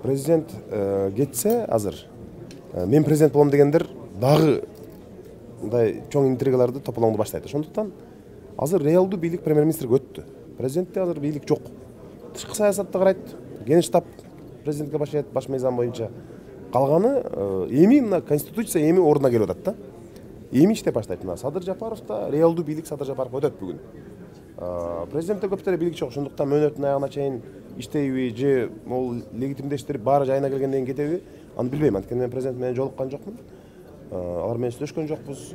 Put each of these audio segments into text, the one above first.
Президент кетсе азыр мен президент болом дегендер дагы мындай чоң интригаларды тополоңду баштайт. Ошондуктан азыр реалдуу бийлик премьер-министрге өттү. Президентте азыр бийлик жок. Тышкы саясатты карайт, Генштаб президентке башайт баш мыйзам боюнча. Калганы эми мына конституция эми ордуна келип атат да. Эми иштеп баштайт. Мына Садыр Жапаров да реалдуу бийлик Садыр Жапаров өтөт бүгүн. Президентте көптөр бийлик жок. Ошондуктан мөөнөттүн аягына чейин иштейби же могу легитимдештирип баары жайына келгенден кийин кетеби, аны билбейм. Анткени мен президент менен жолуккан жокмун. Алар менен сүйлөшкөн жокпуз.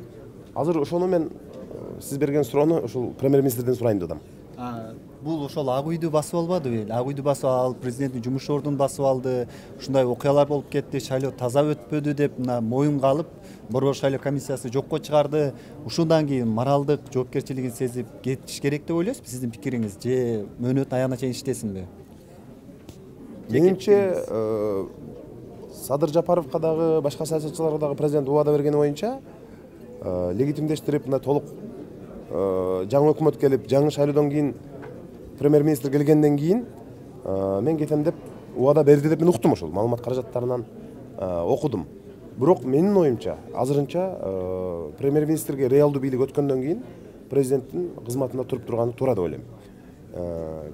Азыр ошону мен сиз берген суроону ошол премьер-министрден сурайын деп атам. Бул ошол Ак үйдү басып албадыбы? Ак үйдү басып алып, президенттин жумуш ордун басып алды. Ушундай окуялар болуп кетти, шайлоо таза өтпөдү деп мына моюнга алып, борбор шайлоо комиссиясы жокко чыгарды. Ушундан кийин моралдык жоопкерчилигин сезип кетиш керек деп ойлойсузбу? Сиздин пикириңиз же мөөнөттүн аягына чейин иштесинби? Менимче Садыр Жапаровго дагы башка саясатчыларга дагы президент убада бергени боюнча легитимдештирип мына толук жаңы өкмөт келип, жаңы шайлоодон кийин премьер-министр келгенден кийин мен кетем деп убада берди деп мен уктум, ошол маалымат каражаттарынан окудум. Бирок менин оюмча азырынча премьер-министрге реалдуу бийлик өткөндөн кийин президенттин кызматында туруп турганы туура деп ойлойм.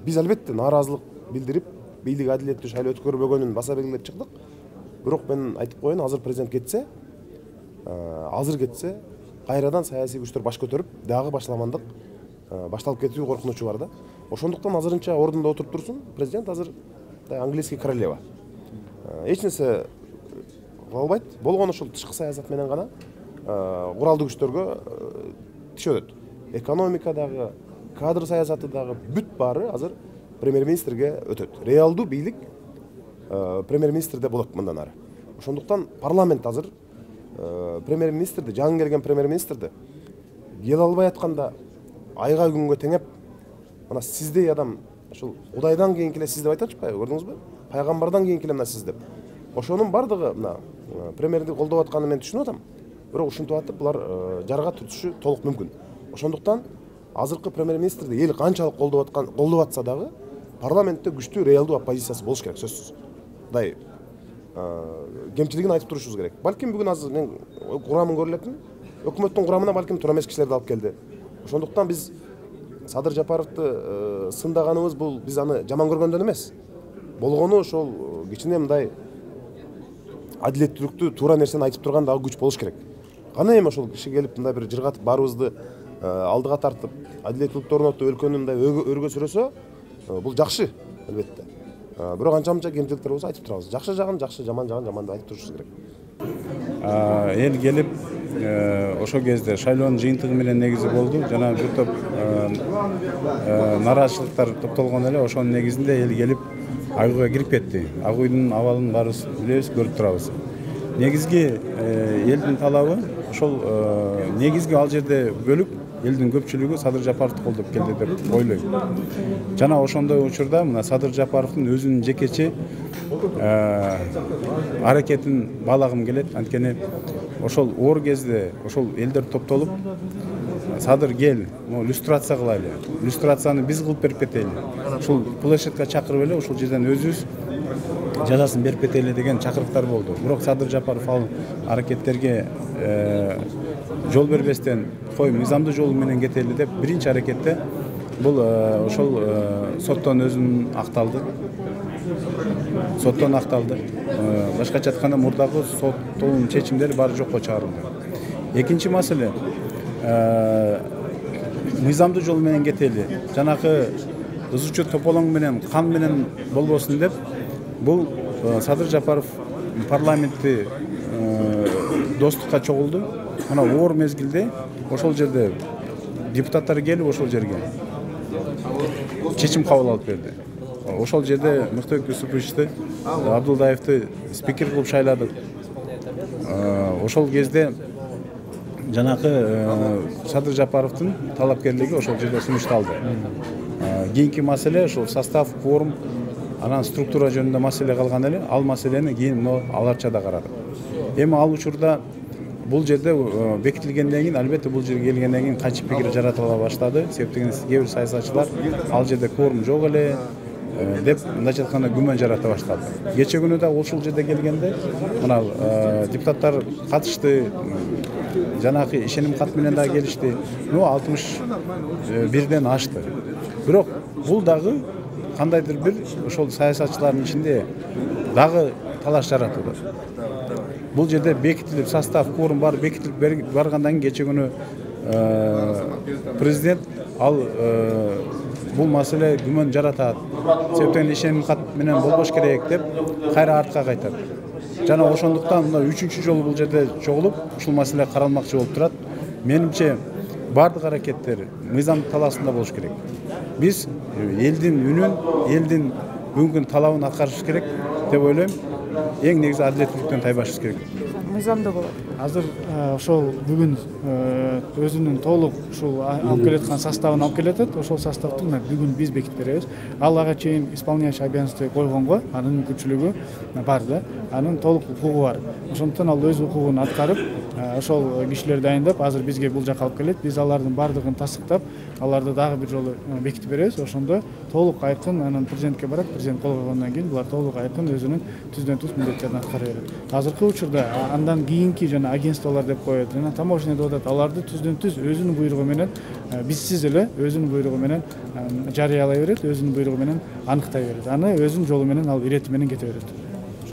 Биз албетте нааразылык билдирип, бийлик адилеттүү шайлоо өткөрбөгөнүн баса белгилеп чыктык. Бирок мен айтып коеюн, азыр президент кетсе, кайрадан саясий күчтөр баш көтөрүп, дагы башаламандык башталып кетүү коркунучу бар да. Ошондуктан азырынча ордунда отуруп турсун. Президент азыр английский королева. Эч нерсе кыла албайт. Болгону ошол тышкы саясат менен гана куралдуу күчтөргө тишөтөт. Экономикадагы, кадр саясаты дагы бүт баары азыр премьер-министрге өтөт. Реалдуу бийлик премьер-министрде болот мындан ары. Ошондуктан парламент азыр премьер-министрди, жаңы келген премьер-министрди келе албай атканда айга күнгө теңеп, мына сиздей адам ошол Кудайдан кийин эле сиз деп айтып атышпайбы, көрдүңүзбү? Пайгамбардан кийин эле мына сиз деп. Ошонун бардыгы мына премьерди колдоп атканын мен түшүнүп атам. Бирок ушинтип атып булар жарга түтүшү толук мүмкүн. Ошондуктан азыркы премьер-министрди эл канчалык колдоп атса дагы парламентте күчтүү реалдуу оппозициясы болуш керек, сөзсүз. Мындай кемчилигин айтып турушубуз керек. Балким бүгүн азыр мен курамын көрүп элепмин. Өкмөттүн курамына балким туура эмес кишилерди алып келди. Ошондуктан биз Садыр Жапаровду сындаганыбыз бул биз аны жаман көргөндөн эмес. Болгону ошол кичине мындай адилеттүүлүктү, туура нерсени айтып турган дагы күч болуш керек. Кана эми ошол киши келип мындай бир жыргатып баарыбызды алдыга тартып, адилеттүүлүктү орнотуп, өлкөнү мындай өргө сүрөсө, бул жакшы, албетте. Бирок анча-мынча кемчиликтер болсо айтып турабыз. Жакшы жагын жакшы, жаман жагын жаман деп айтып турушубуз керек. Эл келип ошол кезде шайлоонун жыйынтыгы менен негизи болду. Жана бир топ нааразычылыктар топтолгон эле, ошонун негизинде эл келип Ак үйгө кирип кетти. Ак үйдүн абалын баарыбыз билебиз, көрүп турабыз. Негизги элдин талабы ошол негизги ал жерде бөлүк элдин көпчүлүгү Садыр Жапаровду колдоп келди деп ойлойм. Жана ошондой учурда мына Садыр Жапаровдун өзүнүн жекечи аракетин баалагым келет. Анткени ошол оор кезде ошол элдер топтолуп, Садыр кел, люстрация кылайлы. Люстрацияны биз кылып берип кетели. Ушул площадька чакырып эле ушул жерден өзүбүз жазасын берип кетели деген чакырыктар болду. Бирок Садыр Жапаров ал аракеттерге жол бербестен, кой мыйзамдуу жолу менен кетели деп биринчи аракетте бул ошол соттон өзүн акталды. Соттон акталды. Башкача айтканда мурдагы соттун чечимдери баары жокко чыгарылды. Экинчи маселе мыйзамдуу жол менен кетели. Жанакы ызычу тополоң менен, кан менен болбосун деп бул Садыр Жапаров парламентти достукка чогулду. Мына оор мезгилде ошол жерде депутаттар келип ошол жерге чечим кабыл алып берди. Ошол жерде Мыктыбек Юсуповичти, Абдулдаевди спикер кылып шайладык. Ошол кезде жанакы Садыр Жапаровдун талапкерлиги ошол жерде сунушталды. Кийинки маселе ошол состав, кворум, анан структура жөнүндө маселе калган эле. Ал маселени кийин аларча да карадык. Эми ал учурда бул жерде бекитилгенден кийин, албетте бул жерге келгенден кийин качып пикир жаратыла баштады. Себеп дегенде кээ бир саясатчылар ал жерде кворум жок эле, деп мындайча айтканда күмөн жарата баштады. Кече күнү да ушул жерде келгенде мына депутаттар катышты, жанагы ишеним кат менен да келишти. 61ден ашты. Бирок бул дагы кандайдыр бир ошол саясатчылардын ичинде дагы талаш жаратылды. Бул жерде бекитилип состав, кворум бар бекитилип баргандан кийин кече күнү президент ал бул маселе күмөн жаратат. Себептен ишеним кат менен болбош керек деп кайра артка кайтат. Жана ошондуктан мына 3-чү жолу бул жерде чогулуп ушул маселе каралмакчы болуп турат. Менимче бардык аракеттер мыйзам талаасында болуш керек. Биз элдин үнүн, элдин бүгүнкү талабын аткарышыбыз керек деп ойлойм. Эң негизи адилеттүүлүктөн тайбашыбыз керек. Мыйзамда болот. Азыр ошол бүгүн өзүнүн толук ушул алып келаткан составын алып келатат. Ошол составды бүгүн биз бекитип беребиз. Ал ага чейин исполняющий обязанности койгонго анын мүмкүнчүлүгү бар да. Анын толук укугу бар. Ошондуктан ал өз укугун аткарып, ошол кишилерди дайындап, азыр бизге бул жака алып келет. Биз алардын бардыгын тастыктап, аларды дагы бир жолу бекитип беребиз. Ошондо толук айкын анан президентке барат. Президент кол койгондон кийин булар толук айкын өзүнүн түздөн-түз милдеттерин аткара берет. Азыркы учурда андан кийинки жана агентстволор деп коет, жана таможня деп атат. Аларды түздөн-түз өзүнүн буйругу менен, бизсиз эле өзүнүн буйругу менен жарыялай берет, өзүнүн буйругу менен аныктай берет. Аны өзүнүн жолу менен ал ирети менен кете берет.